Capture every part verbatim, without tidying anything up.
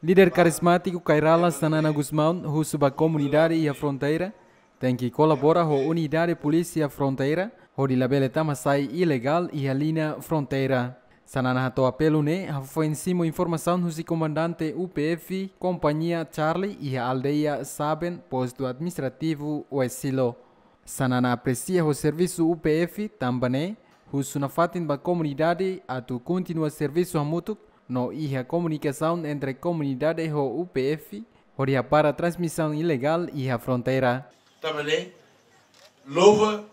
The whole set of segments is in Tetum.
Líder karizmátiku Kay Rala Xanana Gusmão husu ba komunidade iha fronteira tenke kolabora ho unidade polísia fronteira hodi labele tama sai ilegál iha liña fronteira. Xanana hato'o apelu ne'e hafoin simu informasaun husi komandante U P F Kompañia Charlie iha aldeia Saben, postu administrativu Oesilo. Xanana apresia ho servisu U P F, tanba ne'e husu nafatin ba komunidade atu kontinua servisu hamutuk no iha komunikasaun entre komunidade ho U P F hodi hapara transmisaun ilegál iha fronteira. Tanba ne'e, louva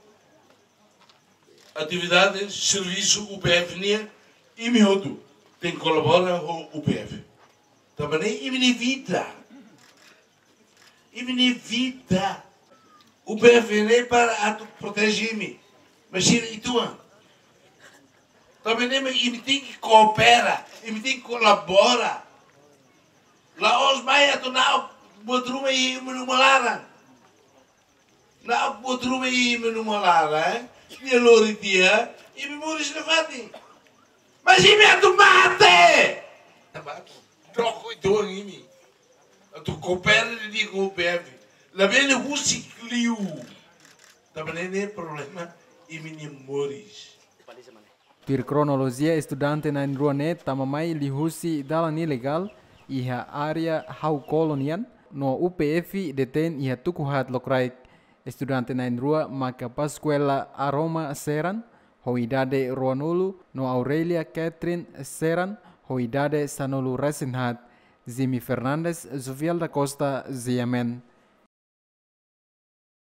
atividade servisu U P F nian, imi hotu tenke kolabora ho U P F. Tanba ne'e imi-nia vida. Imi-nia vida. U P F ne'e para atu proteje imi. Mas sira uitoan. Tanba ne'e mak imi tenke koopera, imi tenke kolabora. La'ós mai atu na'ok buat ruma iha imi-nia uma laran. Na'ok buat ruma iha imi-nia uma laran, eh? Nia lori tiha, imi moris nafatin. Mas imi atu mate. Tanba atu troka uitoan imi. Atu koopera didi'ak ho U P F. Labele husik liu. Tanba ne'e ne'e problema imi-nia moris. Tuir kronolojia, estudante na'in-rua ne'e tama mai liuhusi dalan ilegál iha área Hau Kolo nian, no U P F detein iha tuku haat lokraik. Estudante na'in-rua maka Pascuela Aroma Seran, ho idade ruanulu, no Aurelia Catherine Seran, ho idade sanulu-resin-haat. Zimi Fernandes, Zuviel da Costa, G M N.